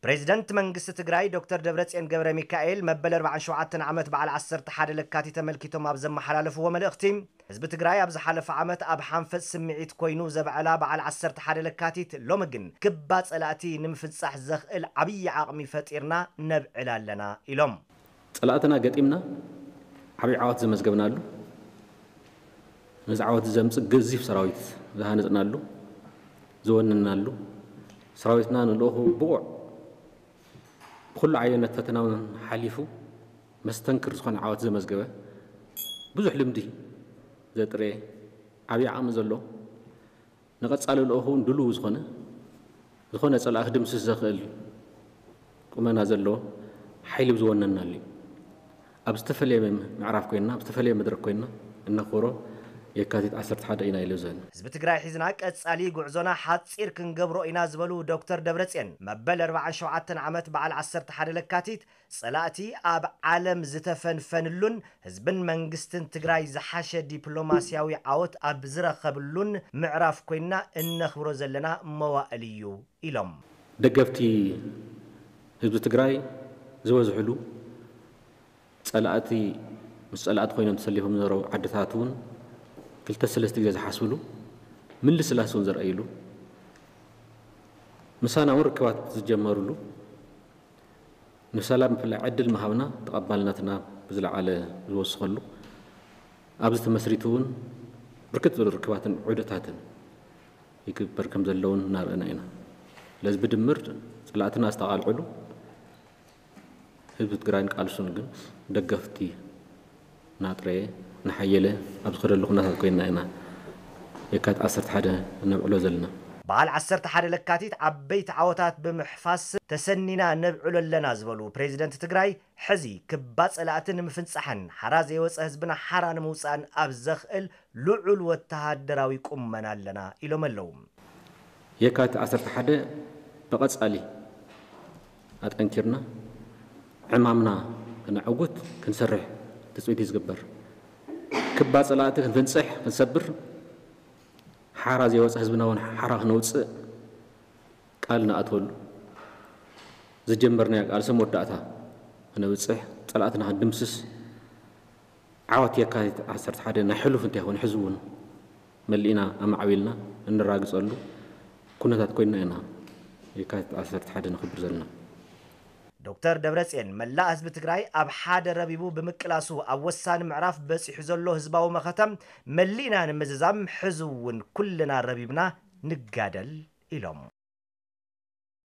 ፕሬዚደንት መንግስቲ ትግራይ ዶክተር ደብረጽዮን ገብረ ሚካኤል መበል ኣርባዓን ሸውዓተን ዓመት በዓል ዓሰርተ ሓደ ለካቲት ተመልኪቶም ኣብ ዘመሓላለፍዎ መልእኽቲ፣ ህዝቢ ትግራይ ኣብ ዝሓለፈ ዓመት ኣብ ሓንፈጽ ስምዒት ኮይኑ ዘብዐላ በዓል ዓሰርተ ሓደ ለካቲት ሎሚ ግን ክባ ጸላእቲ ንምፍንጻሕ ዘኽእል ዓብዪ ዓቕሚ ፈጢርና ነብዕል ኣለና ኢሎም። ጸላእትና ገጢምና ዓብዪ ዓወት ዘመዝገብናሉ፣ ነዚ ዓወት ዘምጽእ ገዚፍ ሰራዊት ዝሃነጽናሉ፣ ዝወነናሉ፣ ሰራዊትና ንልእኹ ብቑዕ ብኹሉ ዓይነት ፈተናውን ሓሊፉ መስተንክር ዝኾነ ዓወት ዘመዝገበ፣ ብዙሕ ልምዲ ዘጥረየ፣ ዓብዪ ዓቕሚ ዘሎ፣ ንቐጻሊ ልእኹ እውን ድሉው ዝኾነ፣ ዝኾነ ጸላኢ ክድምስስ ዘኽእል ቁመና ዘለዎ ሓይሊ ዝወነናሉ እዩ። ኣብ ዝተፈላለየ ምዕራፍ ኮይንና፣ ኣብ ዝተፈላለየ መድረክ ኮይንና እነኽብሮ የካቲት ዓሰርተ ሓደ ኢና ኢለ ዝብል። ህዝቢ ትግራይ ሒዝና ቀጻሊ ጉዕዞና ሓጺር ክንገብሮ ኢና ዝበሉ ዶክተር ደብረጽዮን፣ መበል ኣርባዓን ሸውዓተን ዓመት በዓል ዓሰርተ ሓደ ለካቲት ጸላእቲ ኣብ ዓለም ዝተፈንፈንሉን ህዝብን መንግስትን ትግራይ ዝሓሸ ዲፕሎማስያዊ ዓወት ኣብ ዝረኸብሉን ምዕራፍ ኮይንና እነኽብሮ ዘለና መዋእል እዩ ኢሎም። ደገፍቲ ህዝቢ ትግራይ ዝበዝሕሉ፣ ጸላእቲ ምስ ጸላእቲ ኮይኖም ተሰሊፎም ዝነበሩ ዓድታት እውን ክልተ ሰለስተ ግዜ ዝሓስብሉ፣ ምልስላስ እውን ዘርእይሉ፣ ምሳና እውን ርክባት ዝጀመሩሉ፣ ንሰላም ብፍላይ ዕድል ምሃብና ተቐባልነትና ብዝለዓለ ዝወስኸሉ፣ ኣብዚ ተመስሪቱ እውን ብርክት ዝበሉ ርክባትን ዑደታትን ይግበር ከም ዘለውን እናረእና ኢና። ስለዚ ብድምር ጸላእትና ዝተቓልዕሉ፣ ህዝቢ ትግራይን ቃልሱን ግን ደገፍቲ እናጥረየ እናሓየለ ኣብ ዝኸደሉ ኩነታት ኮይንና ኢና የካቲት ዓሰርተ ሓደ እነብዕሎ ዘለና። በዓል ዓሰርተ ሓደ ለካቲት ዓበይቲ ዓወታት ብምሕፋስ ተሰኒና ነብዕሎ ኣለና ዝበሉ ፕሬዚደንት ትግራይ፣ ሕዚ ክባ ጸላእቲ ንምፍንጻሕን ሓራ ዘይወጸ ህዝብና ሓራ ንምውጻእን ኣብ ዘኽእል ልዑል ወተሃደራዊ ቁመና ኣለና ኢሎም ኣለዉ። የካቲት ዓሰርተ ሓደ ብቐጻሊ ኣጠንኪርና ዕማምና ክነዕውት ክንሰርሕ ትጽቢት እዩ ዝግበር። ክባ ጸላእቲ ክንፍንጽሕ፣ ክንሰብር፣ ሓራ ዘይወጸ ህዝብና እውን ሓራ ክነውጽእ ቃል ንኣትወሉ፣ ዝጀመርናዮ ቃልሲ መወዳእታ ክነብጽሕ፣ ጸላእትና ክንድምስስ፣ ዓወት የካቲት ዓሰርተ ሓደ ናይ ሕሉፍ እንተይኮነ ሕዚ እውን መሊእና ኣማዕቢልና እንራግጸሉ ኩነታት ኮይንና ኢና የካቲት ዓሰርተ ሓደ ነኽብር ዘለና። ዶክተር ደብረጽዮን፣ መላእ ህዝቢ ትግራይ ኣብ ሓደ ረቢቡ ብምቅላሱ ኣብ ወሳኒ ምዕራፍ በጺሑ ዘሎ ህዝባዊ መኸተ መሊእና ንምዝዛም ሕዚ እውን ኩልና ረቢብና ንጋደል ኢሎም።